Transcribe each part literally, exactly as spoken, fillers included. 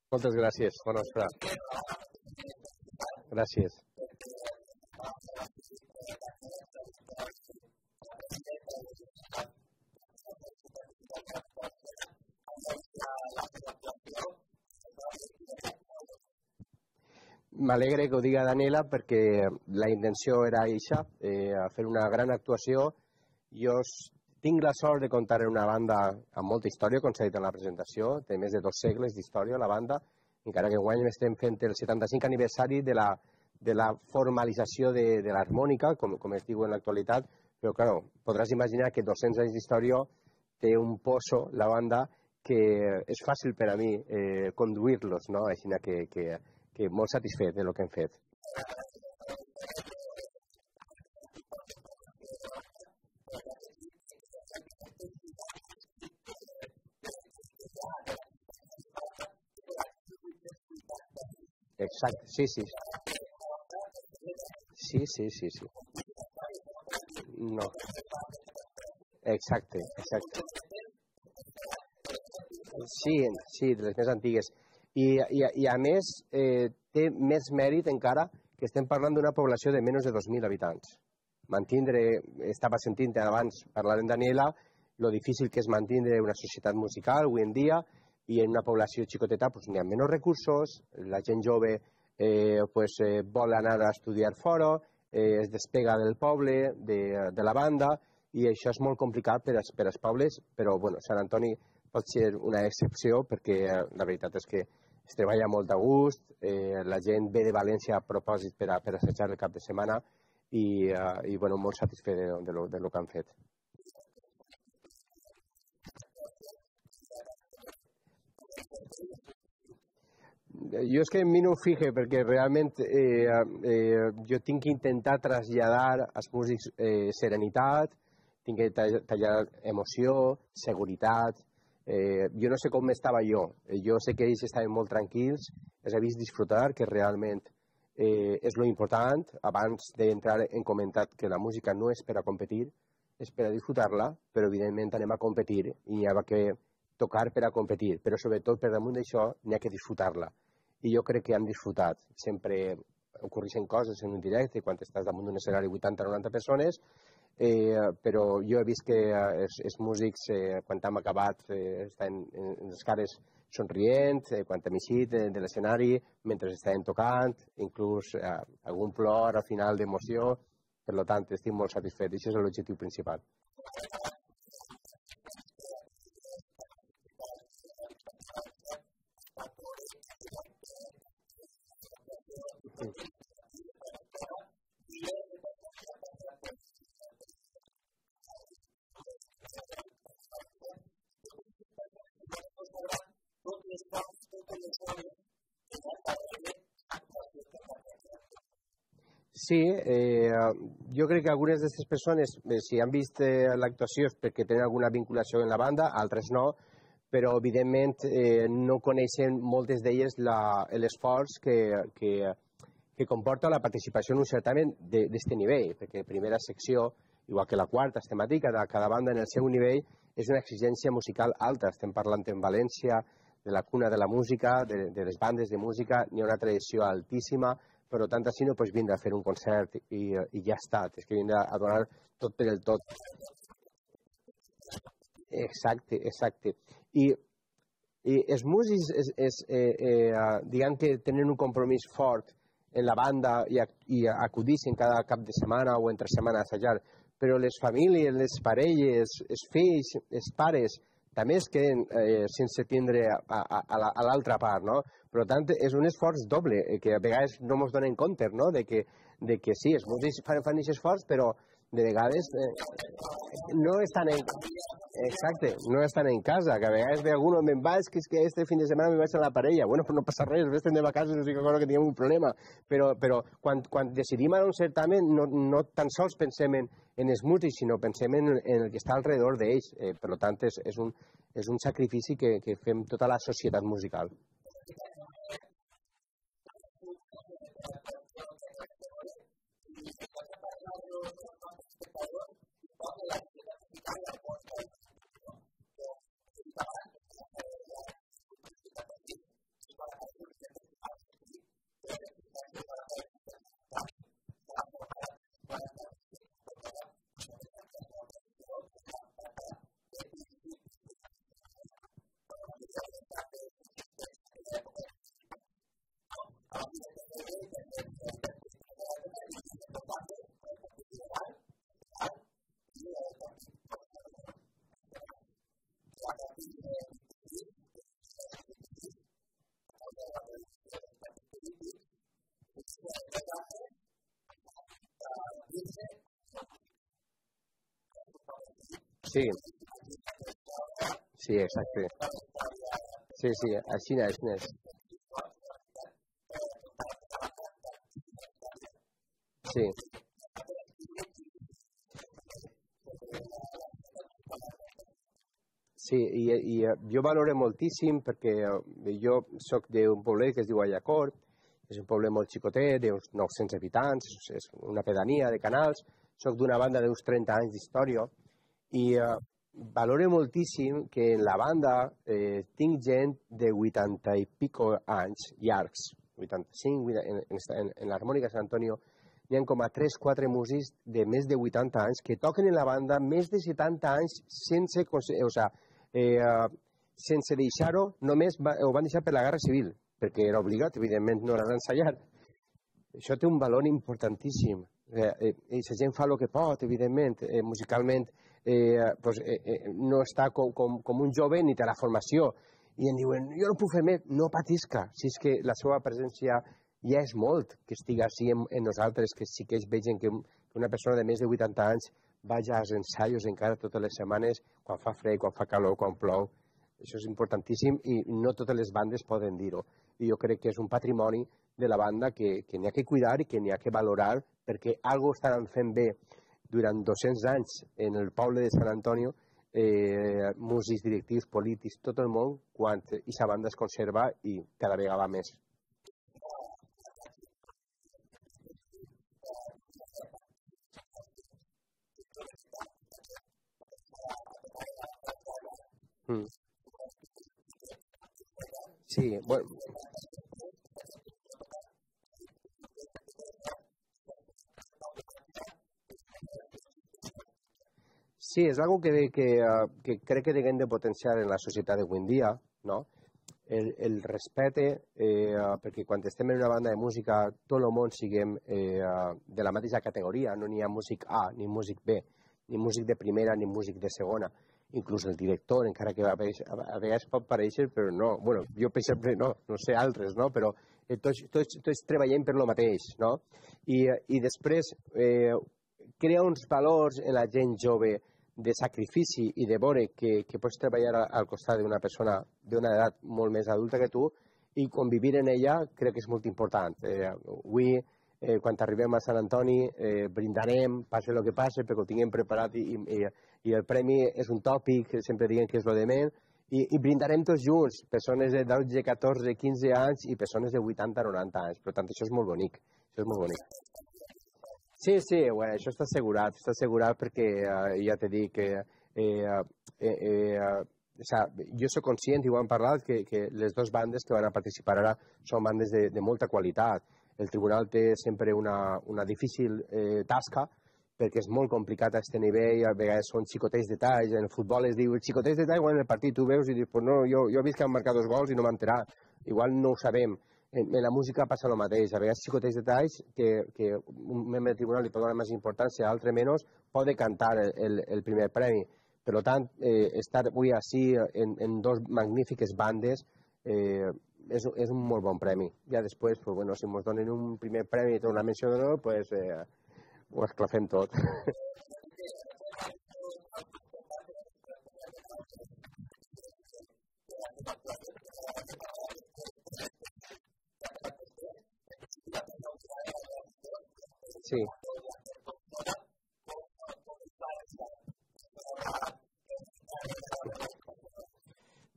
Moltes gràcies. Bona vesprada. Gràcies. M'alegre que ho diga Daniela perquè la intenció era això, eh, fer una gran actuació. Jo tinc la sort de comptar en una banda amb molta història, com s'ha dit en la presentació, té més de dos segles d'història la banda, encara que enguany estem fent el setanta-cinc aniversari de la, de la formalització de, de l'harmònica, com, com es diu en l'actualitat, però clar, podràs imaginar que dos-cents anys d'història té un pozo, la banda, que és fàcil per a mi eh, conduir-los, no? Així que, que, que molt satisfet de lo que hem fet. Exacte, sí, sí. Sí, sí, sí, sí. No. Exacte, exacte. Sí, sí, de les més antigues. I, i, i a més, eh, té més mèrit encara que estem parlant d'una població de menys de dos mil habitants. Mantindre, estava sentint abans parlar amb Daniela, lo difícil que és mantindre una societat musical avui en dia, i en una població xicoteta pues, n'hi ha menys recursos, la gent jove eh, pues, eh, vol anar a estudiar fora, eh, es despega del poble, de, de la banda, i això és molt complicat per als, per als pobles, però bueno, Sant Antoni pot ser una excepció perquè eh, la veritat és que es treballa molt a gust, eh, la gent ve de València a propòsit per, a, per assajar el cap de setmana i, eh, i bueno, molt satisfet de, de, lo, de lo que han fet. Jo és que a mi no ho fixe perquè realment eh, eh, jo tinc que intentar traslladar als músics eh, serenitat, tinc que tallar emoció, seguretat. Eh, jo no sé com estava jo, jo sé que ells estaven molt tranquils, els he vist disfrutar, que realment eh, és lo important. Abans d'entrar hem comentat que la música no és per a competir, és per a disfrutar-la, però evidentment anem a competir i hi ha que tocar per a competir, però sobretot per damunt d'això n'hi ha que disfrutar-la. I jo crec que han disfrutat. Sempre ocorreixen coses en un directe, quan estàs damunt d'un escenari vuitanta o noranta persones, eh, però jo he vist que eh, els, els músics, eh, quan hem acabat, eh, estan en, en les cares somrient, eh, quan hem eixit de, de l'escenari, mentre estaven tocant, inclús eh, algun plor al final d'emoció. Per tant, estic molt satisfet. Això és l'objectiu principal. Sí, eh, jo crec que algunes d'aquestes persones, eh, si han vist eh, l'actuació és perquè tenen alguna vinculació en la banda, altres no, però evidentment eh, no coneixen moltes d'elles l'esforç que, que, que comporta la participació en un certamen d'aquest nivell, perquè primera secció, igual que la quarta, és temàtica de cada banda en el seu nivell, és una exigència musical alta. Estem parlant en València de la cuna de la música, de, de les bandes de música, n'hi ha una tradició altíssima, per tant, així no pots vindre a fer un concert i, i ja està, tens que vindre a donar tot per el tot. Exacte, exacte. I, i els músics, es, es, eh, eh, diguem que tenen un compromís fort en la banda i, i acudixen cada cap de setmana o entre setmana a assajar, però les famílies, les parelles, els fills, els pares, també es queden eh, sense tindre a, a, a l'altra part, no? Per tant, és un esforç doble, que a vegades no ens donem compte, no? De que, de que sí, els músics fan, fan aquest esforç, però de vegades eh, no estan en... Exacte, no estan en casa, que a vegades ve algú, me'n vaig, que és que este fin de setmana me vaig a la parella. Bueno, pues no passa res, estem de vacances, no sé que que teníem un problema. Però, però quan, quan decidim anar a un certamen, no, no tan sols pensem en, en els músics, sinó pensem en, en el que està alrededor d'ells. Eh, per tant, és, és, un, és un sacrifici que, que fem tota la societat musical. Sí, sí, exacte. Sí, sí, així n'és, així n'és. Sí. Sí, i, i eh, jo valoro moltíssim perquè eh, jo sóc d'un poble que es diu Allacor, és un poble molt xicotet, d'uns nou-cents habitants, és és una pedania de Canals, sóc d'una banda d'uns trenta anys d'història i eh, valoro moltíssim que en la banda eh, tinc gent de vuitanta i pico anys llargs, vuitanta-cinc, vuitanta, en, en, en l'harmònica Sant Antonio hi ha com a tres quatre músics de més de vuitanta anys que toquen en la banda més de setanta anys sense, o sigui, eh, sense deixar-ho, només va, ho van deixar per la Guerra Civil, perquè era obligat, evidentment no era d'ensayar. Això té un valor importantíssim. Eh, eh, la gent fa el que pot, evidentment, eh, musicalment eh, pues, eh, eh, no està com, com, com un jove ni té la formació. I em diuen, jo no puc fer més, no patisca, si és que la seva presència ja és molt que estigui així en, en nosaltres, que sí que es vegin que, que una persona de més de vuitanta anys vaja als ensaios encara totes les setmanes, quan fa fred, quan fa calor, quan plou. Això és importantíssim i no totes les bandes poden dir-ho. I jo crec que és un patrimoni de la banda que, que n'hi ha que cuidar i que n'hi ha que valorar perquè algo estaran fent bé durant dos-cents anys en el poble de Sant Antonio, eh, músics, directius, polítics, tot el món, quan aquesta banda es conserva i cada vegada més. Mm. Sí, bueno, sí, és algo que, que, eh, que crec que haguem de potenciar en la societat d'avui en dia, no? El, el respecte, eh, perquè quan estem en una banda de música, tot el món siguem eh, de la mateixa categoria, no n'hi ha músic A, ni músic B, ni músic de primera, ni músic de segona. Inclús el director, encara que a vegades, a vegades pot pareixer, però no. Bueno, jo per exemple no, no sé altres, no? Però eh, tots, tots, tots treballem per lo mateix, no? I, i després eh, crea uns valors en la gent jove de sacrifici i de veure que, que pots treballar al costat d'una persona d'una edat molt més adulta que tu i convivir en ella crec que és molt important. Eh, avui, eh, quan arribem a Sant Antoni, eh, brindarem, passe el que passe, perquè ho tinguem preparat i, i, i el premi és un tòpic, sempre diem que és lo de menys, i, i brindarem tots junts, persones de dotze, catorze, quinze anys i persones de vuitanta, noranta anys. Per tant, això és molt bonic. Això és molt bonic. Sí, sí, bueno, això està assegurat, està assegurat perquè eh, ja t'he dit que eh, eh, eh, o sea, jo soc conscient, i ho hem parlat, que, que les dues bandes que van a participar ara són bandes de, de molta qualitat. El tribunal té sempre una, una difícil eh, tasca perquè és molt complicat a aquest nivell, a vegades són xicotets detalls, en el futbol es diu xicotets detalls, quan en el partit tu veus i dius, pues no, jo, jo he vist que han marcat dos gols i no m'han enterat, igual no ho sabem. En, en la música passa el mateix, a vegades xicotets detalls que, que un membre del tribunal li pot donar més importància, altre menys, pot cantar el, el, el primer premi. Per tant, eh, estar avui així en, en dos magnífiques bandes eh, és, és un molt bon premi. Ja després, pues, bueno, si ens donen un primer premi i una menció d'honor, pues, eh, ho esclafem tot. Sí.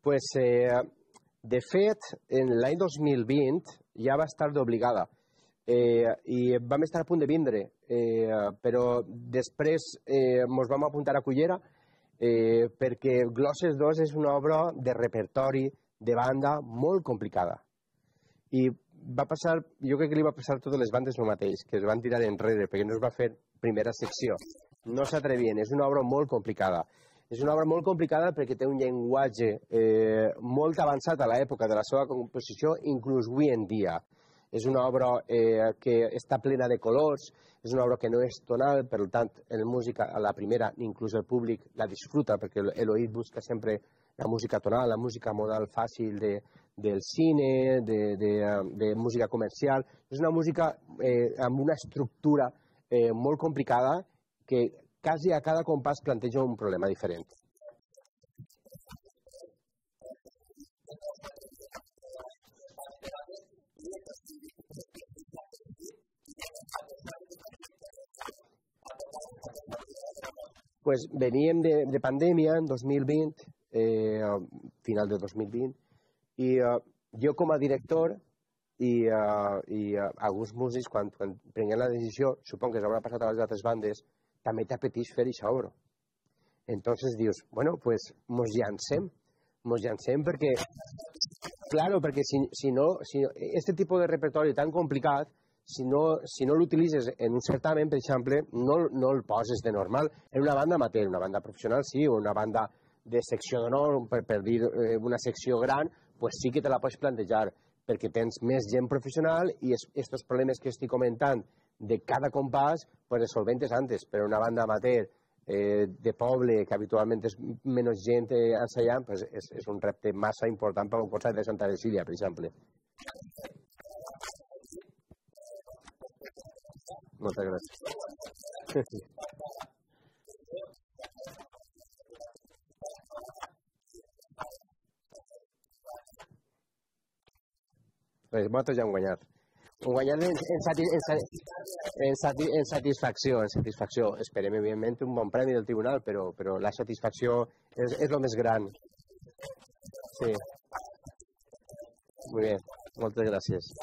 Pues, eh, de fet, en l'any dos mil vint ja va estar d'obligada eh, i vam estar a punt de vindre, eh, però després eh, ens vam apuntar a Cullera eh, perquè Glosses dos és una obra de repertori, de banda, molt complicada. I va passar, jo crec que li va passar a totes les bandes el mateix, que es van tirar enrere perquè no es va fer primera secció. No s'atrevien, és una obra molt complicada. És una obra molt complicada perquè té un llenguatge eh, molt avançat a l'època de la seva composició, inclús avui en dia. És una obra eh, que està plena de colors, és una obra que no és tonal, per tant, el músic a la primera, inclús el públic, la disfruta, perquè l'oït busca sempre la música tonal, la música modal fàcil de, del cine, de, de, de música comercial. És una música eh, amb una estructura eh, molt complicada que quasi a cada compàs planteja un problema diferent. Pues veníem de, de pandèmia en dos mil vint, eh, final de dos mil vint, i eh, jo com a director i, uh, i uh, alguns músics, quan, quan prenguem la decisió, suponc que s'haurà passat a les altres bandes, també t'apeteix fer això obra. Entonces dius, bueno, pues mos llancem, mos llancem perquè, claro, perquè si, si no, si, este tipus de repertori tan complicat, si no, si no l'utilitzes en un certamen, per exemple, no, no el poses de normal. En una banda amateur, una banda professional sí, o una banda de secció d'honor, per, per dir eh, una secció gran, pues sí que te la pots plantejar, perquè tens més gent professional i aquests problemes que estic comentant de cada compàs, pues els solventes antes, però una banda amateur eh, de poble, que habitualment és menys gent eh, ensaiant, pues és, és un repte massa important per un concert de Santa Cecília, per exemple. Moltes gràcies. Pues vosaltres ja hem guanyat. Hem guanyat en, en, sati, en, en, sati, en satisfacció, en satisfacció. Esperem, evidentment, un bon premi del tribunal, però, però la satisfacció és, és el més gran. Sí. Muy bien. Moltes gràcies.